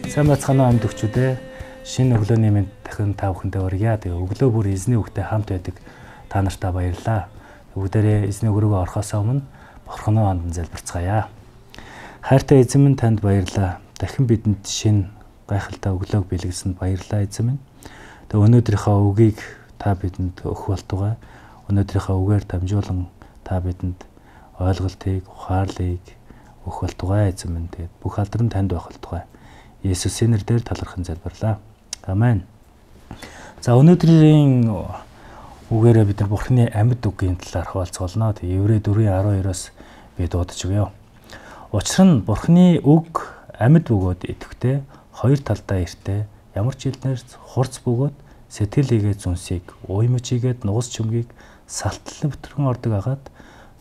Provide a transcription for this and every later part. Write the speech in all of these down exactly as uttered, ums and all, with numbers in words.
Сайн бацгаана амьд өгчүүдээ. Шинэ өглөөний мэнд дахин та бүхэндээ хүргье. Тэгээ өглөө бүр эзний үгтэй хамт байдаг та нартай баярлалаа. Бүгдээрээ эзний өрөөгөө орохоос өмнө Бурхны ханд залбирцгаая. Хайртай эзэн минь танд баярлалаа. Дахин бидэнд шинэ гайхалтай өглөөг бэлгэсэнд баярлалаа эзэн минь. Тэгээ өнөөдрийнхөө үгийг та бидэнд өгөх болтугай. Өнөөдрийнхөө үгээр дамжуулан та бидэнд ойлголтыг, ухаарлыг өгөх болтугай эзэн минь. Тэгээд бүх алдрын танд байх болтугай. Есүсийн нэрээр талархан залбирлаа. Амен. За өнөөдрийн үгээрээ бид нар Бурхны амьд үгийн талаар хуваалцгаална. Тэгээ Еврей дөрвийн арван хоёроос би дуудаж өгье. Учир нь Бурхны үг амьд бөгөөд идэвхтэй, хоёр талдаа эртээ, ямар ч хэлнээс хурц бөгөөд сэтгэл хийгээд зүнсийг, уймж хийгээд нугас чөмгийг салтал бүтрэн ордог агаад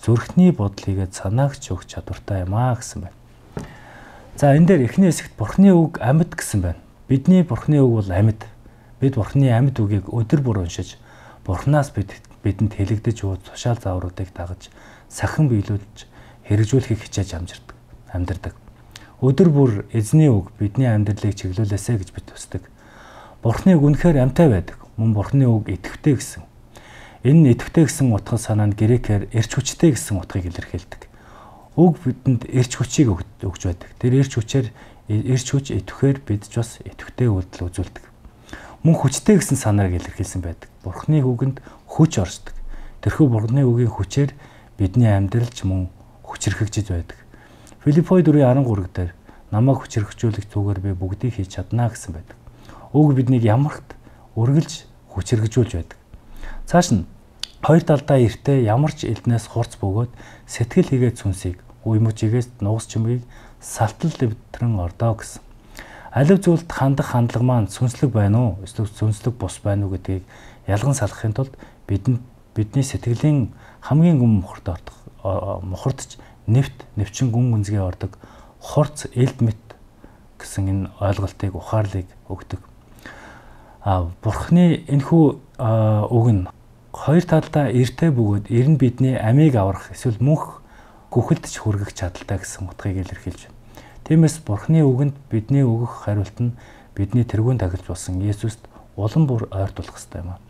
зүрхний бодол хийгээд санаагч өгч чадвартай юм аа гэсэн байна. За энэ дээр эхний хэсэгт Бурхны үг амьд гэсэн байна. Бидний Бурхны үг бол амьд. Бид Бурхны амьд үгийг өдөр бүр уншиж, Бурхнаас бид бидэнд хэлэгдэж буй тушаал заавруудыг дагаж, сахин биелүүлж, хэрэгжүүлэхийг хичээж амжирдаг, амьдардаг. Өдөр бүр эзний үг бидний амьдралыг чиглүүлээсэ гэж бид төсдөг. Бурхны үг үнэхээр амьтай байдаг. Мөн Бурхны үг идэвхтэй гэсэн. Энэ идэвхтэй гэсэн утга санаа нь грекээр эрч хүчтэй гэсэн утгыг илэрхийлдэг. Үг бидэнд эрч хүчийг өгч байдаг. Тэр эрч хүчээр эрч хүч идэвхээр бид ч бас идэвхтэй үйлдэл үзүүлдэг. Мөн хүчтэй гэсэн санааг илэрхийлсэн байдаг. Бурхны үгэнд хүч оршдог. Тэрхүү Бурхны үгийн хүчээр бидний амьдралч мөн хүчрхэгжиж байдаг. Филиппой дөрвийн арван гурав дээр намайг хүчрхэгжүүлэх зүгээр би бүгдийг хийж чадна гэсэн байдаг. Үг биднийг ямарт үргэлж хүчрхэгжүүлж байдаг. Цааш нь хоёр талдаа эртээ ямар ч элднээс хурц бөгөөд сэтгэл хийгээд сүнсийг уймжигээс нугас чимгийг салтал дэвтрэн ордоо гэсэн. Алив зүйлд хандах хандлага маань сүнслэг байна уу? Эсвэл сүнслэг бус байна уу гэдгийг ялган салахын тулд бидэнд бидний сэтгэлийн хамгийн гүн мухарт ордог мухардч нэвт нэвчин гүн гүнзгий ордог хорц элд мэт гэсэн энэ ойлголтыг ухаарлыг өгдөг. А Бурхны энэхүү үг нь хоёр талдаа эртээ бөгөөд ер нь бидний амийг аврах эсвэл мөнх гүхэлдж хүргэх чадaltaй гэсэн утгыг илэрхийлж байна. Тиймээс Бурхны үгэнд бидний өгөх хариулт нь бидний тэргүүн тахилж болсон Есүст улам бүр ойртуулах ёстой юм аа.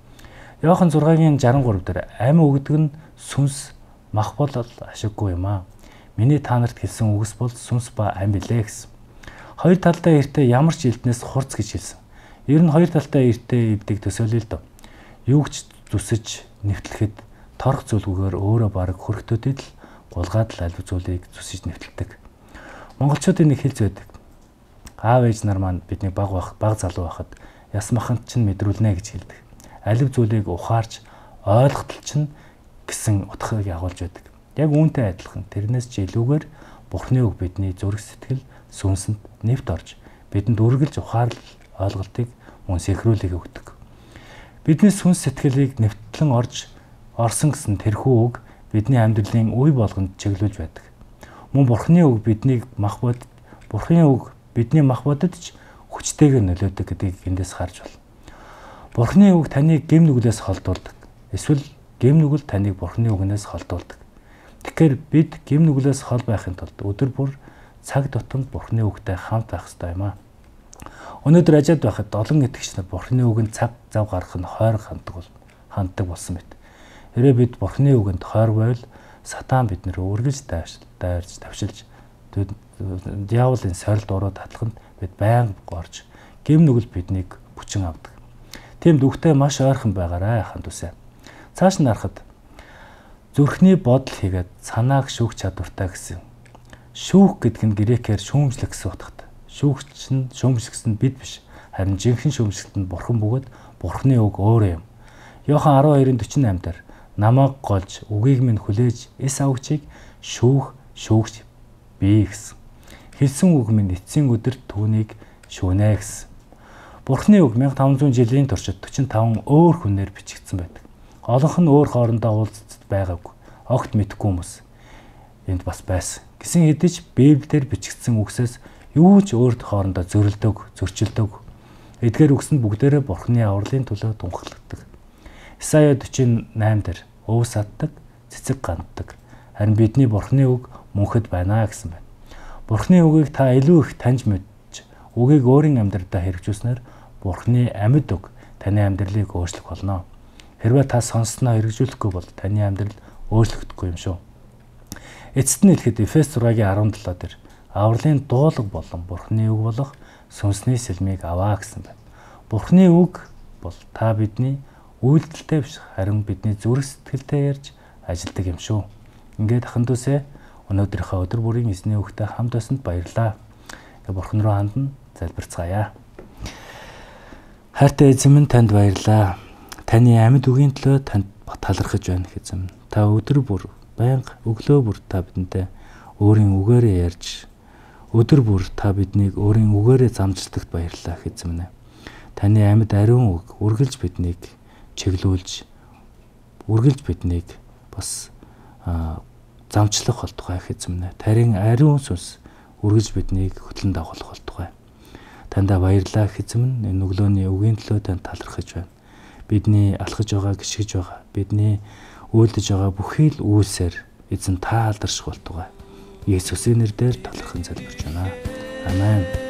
Иохан зургагийн жаран гурав дээр амь өгдөг нь сүнс мах бол ашиггүй юм аа. Миний та нарт хэлсэн үгс бол сүнс ба амь билээ гэсэн. Хоёр талдаа эртээ ямар ч элднээс хурц гэж хэлсэн. Ер нь хоёр талдаа эртээ эвдэг төсөөлөл дөө. Юу ч зүсэж нэвтлэхэд торох зүйлгүйгээр өөрөө бараг хөргөтөдөд л гулгаад л аль зүйлийг зүсэж нэвтэлдэг. Монголчуудын нэг хэлж байдаг. Аав ээж нар маань бидний баг баг баг залуу байхад яс маханд чинь мэдрүүлнэ гэж хэлдэг. Алив зүйлийг ухаарч ойлгохтол чинь гэсэн утгыг агуулж байдаг. Яг үүнтэй адилхан тэрнээс ч илүүгээр Бурхны үг бидний зүрх сэтгэл сүнсэнд нэвт орж бидэнд үргэлж ухаарлал ойлголтыг мөн сэрхрүүлэг өгдөг. Бидний сүнс сэтгэлийг нэвтлэн орж орсон гэсэн тэрхүү үг бидний амьдралын үе болгонд чиглүүлж байдаг. Мөн Бурхны үг биднийг мах бод Бурхны үг бидний мах бодод ч хүчтэйгээр нөлөөдөг гэдгийг эндээс харж байна. Бурхны үг таныг гэм нүглээс холдуулдаг. Эсвэл гэм нүгэл таныг Бурхны үгнээс холдуулдаг. Тэгэхээр бид гэм нүглээс хол байхын тулд өдөр бүр цаг тутамд Бурхны үгтэй хамт байх ёстой юм аа. Өнөөдөр ажид байхад олон итгэгч нар Бурхны үгэнд цаг зав гаргах нь хойрог ханддаг бол ханддаг болсон мэт. Хэрвээ бид Бурхны үгэнд хойрог байвал сатан биднэр үргэлж дайрж тавшилж диаволын сорилт уруу татлаханд бид байнга горж гэм нүгэл биднийг бүчин авдаг. Тиймд үгтэй маш ойрхон байгаарай ханд үсэ. Цааш нь харахад зүрхний бодол хийгээд санааг шүүх чадвартай гэсэн. Шүүх гэдэг нь грекээр шүүмжлэх гэсэн утгатай. Шүүгч нь шүүмжлэгс нь бид биш. Харин жинхэнэ шүүмжлэлт нь Бурхан бөгөөд Бурхны үг өөрөө юм. Иохан арван хоёрын дөрвөн восемь дээр намайг голж үгийг минь хүлээж эс авгчийг шүүх шүүгч бий гэсэн. Хэлсэн үг минь эцсийн өдөр түүнийг шүүнэ гэсэн. Бурхны үг мянга таван зуун жилийн туршид дөрвөн таван өөр хүнээр бичигдсэн байдаг. Олонх нь өөр хоорондоо уулзалт байгаагүй. Огт мэдэхгүй хүмүүс энд бас байсан. Гэсэн хэдий ч Библиэлд бичигдсэн үгсээс юу ч өөр хоорондоо зөрөлдөг, зөрчилдөг. Эдгээр үгсэнд бүгдээрээ Бурхны авралын төлөө тунхагладаг. Исая дөрвөн восемь дээр өвс аддаг, цэцэг ганддаг. Харин бидний Бурхны үг мөнхөд байна гэсэн байна. Бурхны үгийг та илүү их таньж мэдж, үгийг өөрийн амьдралдаа хэрэгжүүлснээр Бурхны амьд үг таны амьдралыг өөрчлөх болно. Хэрвээ та сонссноо хэрэгжүүлэхгүй бол таны амьдрал өөрчлөгдөхгүй юм шүү. Эцэст нь хэлэхэд Эфес зургийн арван долоо дээр авралын дуулаг болон Бурхны үг болох сүнсний сэлмийг аваа гэсэн байна. Бурхны үг бол та бидний үйлдэлтэй биш, харин бидний зүрх сэтгэлтэй ярьж ажилдаг юм шүү. Ингээд ахын дүүсээ өнөөдрийнхөө өдөр бүрийн эзний үгтэй хамт байсанд баярлалаа. Ингээд Бурхан руу хандна, залбирцгаая. Хайртай эзэн минь, танд баярлалаа. Таны амьд үгийн төлөө танд талархаж байна эзэн. Та өдөр бүр байнга өглөө бүр та бидэнтэй өөрийн үгээрээ ярьж, өдөр бүр та биднийг өөрийн үгээрээ замжилдагт баярлалаа эзэн минь. Таны амьд ариун үг үргэлж биднийг чиглүүлж, үргэлж биднийг бас замчлах болтугай эзэн минь. Тарийн ариун сүнс үргэлж биднийг хөтлөн дагуулах болтугай. Тандаа баярлалаа эзэн минь. Энэ өглөөний үгийн төлөө танд талархаж байна. Бидний алхаж байгаа, гიშгэж байгаа, бидний үйлдэж байгаа бүхий л үйлсээр эзэн та алдарших болтугай. Есүсийн нэрээр талархан залбирч байна. Амен.